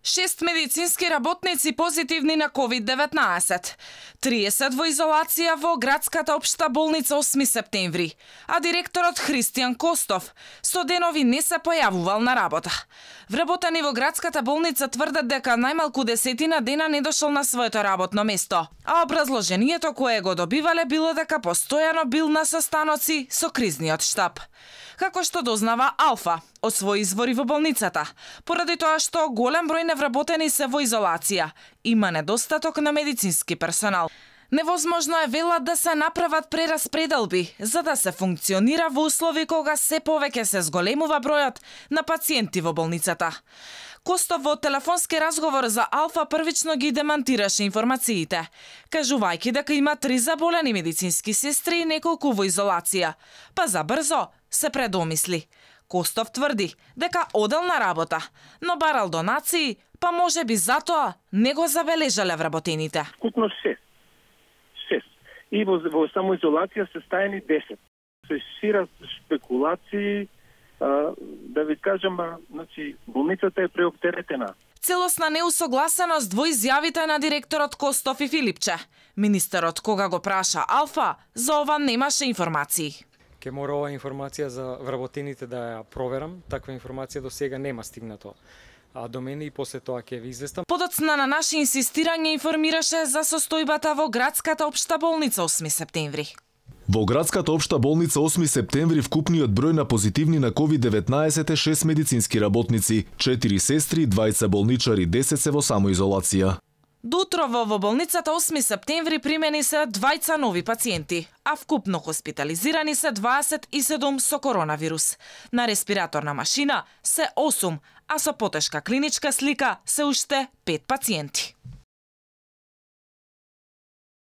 6 медицински работници позитивни на COVID-19. 30 во изолација во градската општа болница 8 септември, а директорот Христијан Костов со денови не се појавувал на работа. Вработени во градската болница тврдат дека најмалку 10 дена не дошол на своето работно место, а образложението кое го добивале било дека постојано бил на состаноци со кризниот штаб. Како што дознава Алфа од своји извори во болницата, поради тоа што голем број невработени се во изолација, има недостаток на медицински персонал. Невозможно е, велат, да се направат прераспределби за да се функционира во услови кога се повеќе се зголемува бројот на пациенти во болницата. Костов во телефонски разговор за Алфа првично ги демантираше информациите, кажувајќи дека има 3 заболени медицински сестри и неколку во изолација, па забрзо се предомисли. Костов тврди дека одел на работа, но барал донации, па можеби затоа не го забележале вработените. Вкупно 6. И во самоизолација се стаени 10. Се шират спекулации, да ви кажам, значи, болницата е преоптеретена. Целосна неусогласеност во изјавите на директорот Костов и Филипче. Министерот, кога го праша Алфа, за ова немаше информации. Ке мора ова информација за вработените да ја проверам. Таква информација до сега нема стигнато до мене и после тоа ќе ви известам. Подоцна на наше инсистирање информираше за состојбата во градската општа болница 8 септември. Во градската општа болница 8 септември вкупниот број на позитивни на COVID-19 е 6 медицински работници, 4 сестри, 2 болничари, 10 се во самоизолација. Доутрово во болницата 8 септември примени се 2 нови пациенти, а вкупно хоспитализирани се 27 со коронавирус. На респираторна машина се 8, а со потешка клиничка слика се уште 5 пациенти.